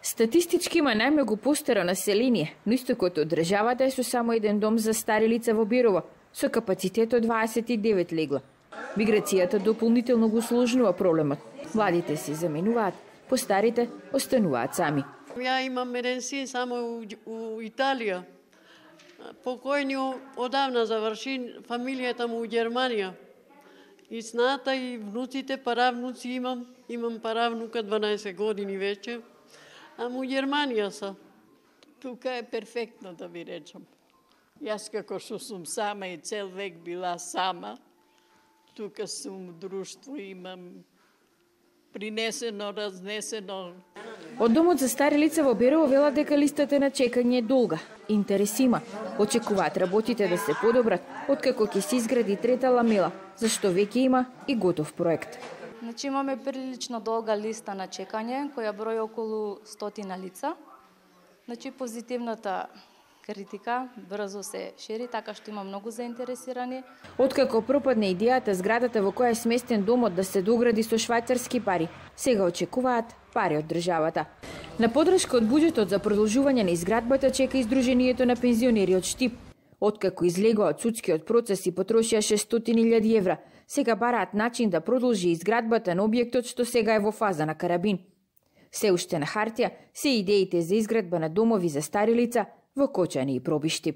Статистички има најмногу постаро население, но истокот од државата е со само еден дом за стари лица во Берово, со капацитет од 29 легла. Миграцијата дополнително го усложнува проблемот. Младите се заменуваат, постарите остануваат сами. Ја имам еден син само у Италија. Покојни одавна заврши, фамилијата му у Германија. И сната и внуците, паравнуци имам паравнука 12 години веќе, а му Германија са. Тука е перфектно, да ви речам. Јас како што сум сама и цел век била сама, тука сум друштво, имам принесено, разнесено. Од домот за стари лица во Берово велат дека листата на чекање е долга. Интерес има. Очекуваат работите да се подобрат, откако ќе се изгради трета ламела, зашто веќе има и готов проект. Значи имаме прилично долга листа на чекање, која брои околу 100 лица. Значи позитивната критика брзо се шири, така што има многу заинтересирани. Откако пропадне идејата зградата во која е сместен домот да се догради со швајцарски пари, сега очекуваат пари од државата. На подршка од буџетот за продолжување на изградбата чека издруженијето на пензионери од Штип. Откако излегоа од судскиот процес и потрошија 600.000 евра, сега бараат начин да продолжи изградбата на објектот што сега е во фаза на карабин. Се уште на хартија се идеите за изградба на домови за стари лица во Кочани и Пробишти.